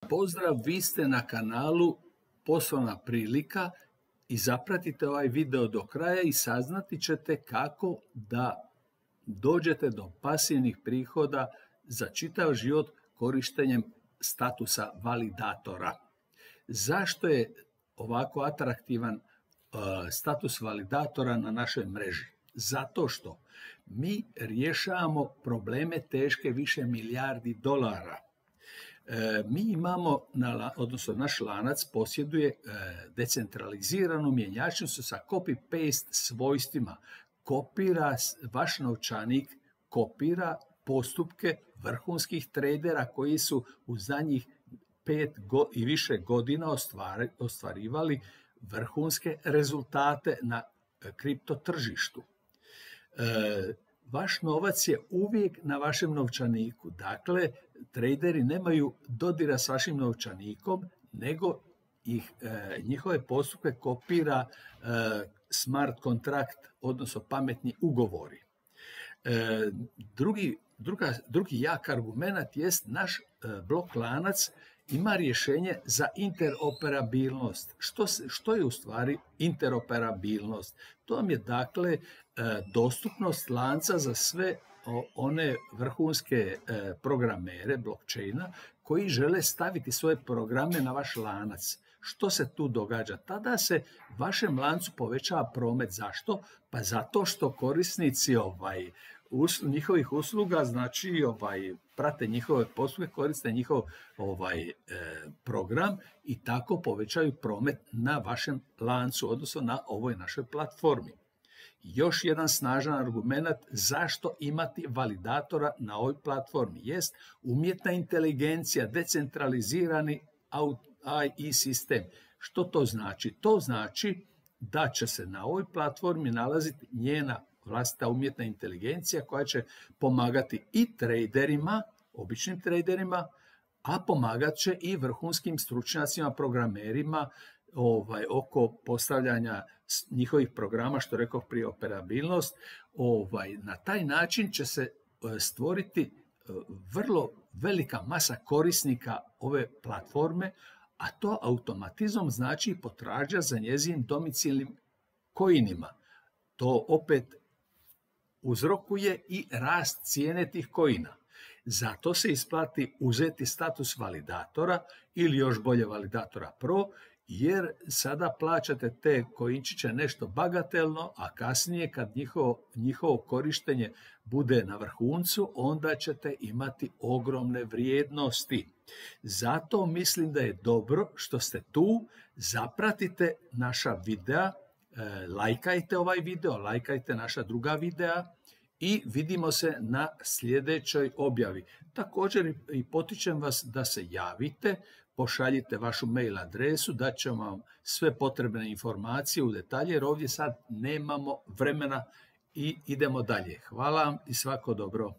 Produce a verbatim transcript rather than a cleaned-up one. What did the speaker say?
Pozdrav, vi ste na kanalu Poslovna prilika i zapratite ovaj video do kraja i saznati ćete kako da dođete do pasivnih prihoda za čitav život korištenjem statusa validatora. Zašto je ovako atraktivan uh, status validatora na našoj mreži? Zato što mi rješavamo probleme teške više milijardi dolara. E, mi imamo, na, odnosno naš lanac posjeduje e, decentraliziranu mjenjačnicu sa copy-paste svojstvima. Kopira, vaš novčanik kopira postupke vrhunskih tradera koji su u zadnjih pet go, i više godina ostvari, ostvarivali vrhunske rezultate na kripto tržištu. E, Vaš novac je uvijek na vašem novčaniku. Dakle, traderi nemaju dodira s vašim novčanikom, nego ih, e, njihove postupke kopira e, smart kontrakt, odnosno pametni ugovori. E, drugi, druga, drugi jak argument jest naš e, blok lanac ima rješenje za interoperabilnost. Što, što je u stvari interoperabilnost? To vam je dakle dostupnost lanca za sve one vrhunske programere blockchaina koji žele staviti svoje programe na vaš lanac. Što se tu događa? Tada se vašem lancu povećava promet. Zašto? Pa zato što korisnici ovaj, us, njihovih usluga, znači ovaj, prate njihove postupke, koriste njihov ovaj, e, program i tako povećaju promet na vašem lancu, odnosno na ovoj našoj platformi. Još jedan snažan argument zašto imati validatora na ovoj platformi jest umjetna inteligencija, decentralizirani A I sistem. Što to znači? To znači da će se na ovoj platformi nalaziti njena vlastita umjetna inteligencija koja će pomagati i traderima, običnim traderima, a pomagat će i vrhunskim stručnjacima, programerima ovaj, oko postavljanja njihovih programa, što rekao prije operabilnost. Ovaj, na taj način će se stvoriti vrlo velika masa korisnika ove platforme, a to automatizmom znači potražnja za njezinim domicilnim coinima. To opet uzrokuje i rast cijene tih coina. Zato se isplati uzeti status validatora ili još bolje validatora pro, jer sada plaćate te koinčiće nešto bagatelno, a kasnije kad njihovo, njihovo korištenje bude na vrhuncu, onda ćete imati ogromne vrijednosti. Zato mislim da je dobro što ste tu, zapratite naša videa, e, lajkajte ovaj video, lajkajte naša druga videa i vidimo se na sljedećoj objavi. Također i potičem vas da se javite, pošaljite vašu mail adresu, da ćemo vam sve potrebne informacije u detalje, jer ovdje sad nemamo vremena i idemo dalje. Hvala vam i svako dobro.